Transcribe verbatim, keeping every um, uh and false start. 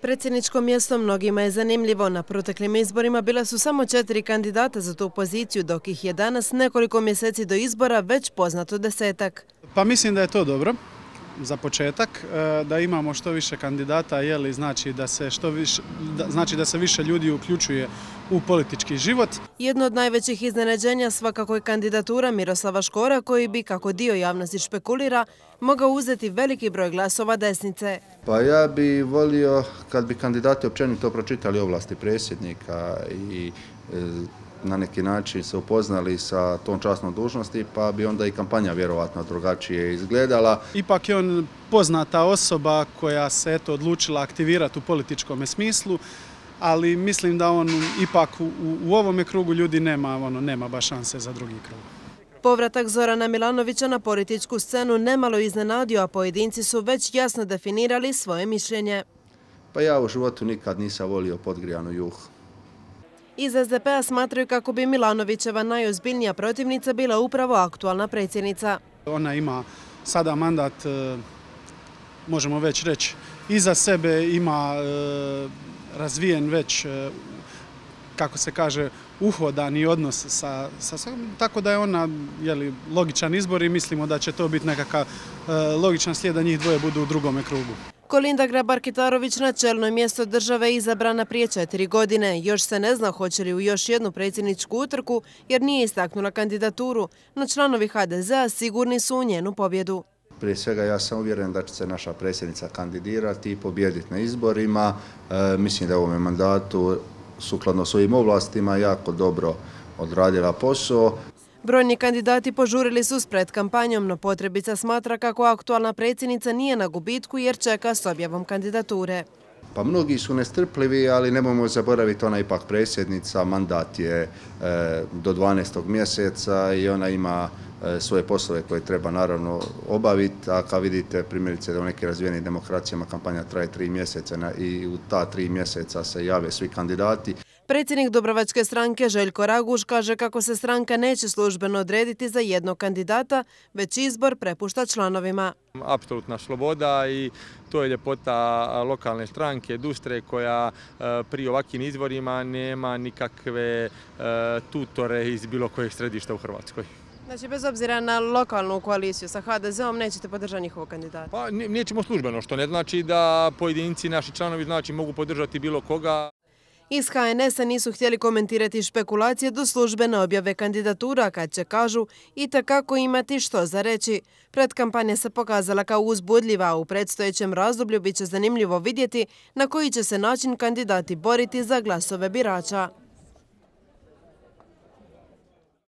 Predsjedničko mjesto mnogima je zanimljivo. Na proteklim izborima bila su samo četiri kandidata za tu poziciju, dok ih je danas nekoliko mjeseci do izbora već poznato desetak. Pa mislim da je to dobro za početak, da imamo što više kandidata, jeli, znači da se što više, znači da se više ljudi uključuje u politički život. Jedno od najvećih iznenađenja svakako je kandidatura Miroslava Škora, koji bi, kako dio javnosti špekulira, mogao uzeti veliki broj glasova desnice. Pa ja bi volio kad bi kandidati općenito pročitali ovlasti predsjednika i na neki način se upoznali sa tom časnom dužnosti, pa bi onda i kampanja vjerovatno drugačije izgledala. Ipak je on poznata osoba koja se eto odlučila aktivirati u političkom smislu, ali mislim da on ipak u, u ovome krugu ljudi nema, ono, nema baš šanse za drugi krug. Povratak Zorana Milanovića na političku scenu nemalo iznenadio, a pojedinci su već jasno definirali svoje mišljenje. Pa ja u životu nikad nisam volio podgrijanu juhu. Iz es de pe-a smatraju kako bi Milanovićeva najozbiljnija protivnica bila upravo aktualna predsjednica. Ona ima sada mandat, možemo već reći, iza sebe, ima razvijen već, kako se kaže, uhodani odnos sa, sa tako da je ona jeli, logičan izbor i mislimo da će to biti nekakav logičan slijed da njih dvoje budu u drugome krugu. Kolinda Grabar-Kitarović na čelno mjesto države izabrana prije četiri godine. Još se ne zna hoće li u još jednu predsjedničku utrku jer nije istaknula kandidaturu, no članovi ha de ze-a sigurni su u njenu pobjedu. Prije svega ja sam uvjeren da će se naša predsjednica kandidirati i pobijediti na izborima. E, mislim da je u ovome mandatu sukladno svojim ovlastima jako dobro odradila posao. Brojni kandidati požurili su s predkampanjom, no potrebica smatra kako aktualna predsjednica nije na gubitku jer čeka s objavom kandidature. Pa mnogi su nestrpljivi, ali nemojmo zaboraviti, ona ipak predsjednica, mandat je e, do dvanaestog mjeseca i ona ima e, svoje poslove koje treba naravno obaviti, a kao vidite primjerice da u nekim razvijenim demokracijama kampanja traje tri mjeseca na, i u ta tri mjeseca se jave svi kandidati. Predsjednik Dubrovačke stranke Željko Raguž kaže kako se stranka neće službeno odrediti za jednog kandidata, već izbor prepušta članovima. Apsolutna sloboda i to je ljepota lokalne stranke Dustre koja pri ovakvim izborima nema nikakve tutore iz bilo kojeg središta u Hrvatskoj. Znači, bez obzira na lokalnu koaliciju sa ha de ze-om nećete podržati njihovog kandidata? Pa nećemo službeno, što ne znači da pojedinci, naši članovi, znači mogu podržati bilo koga. Iz ha en es-a nisu htjeli komentirati špekulacije do službene objave kandidatura, kad će, kažu, itekako imati što za reći. Predkampanja se pokazala kao uzbudljiva, a u predstojećem razdoblju bit će zanimljivo vidjeti na koji će se način kandidati boriti za glasove birača.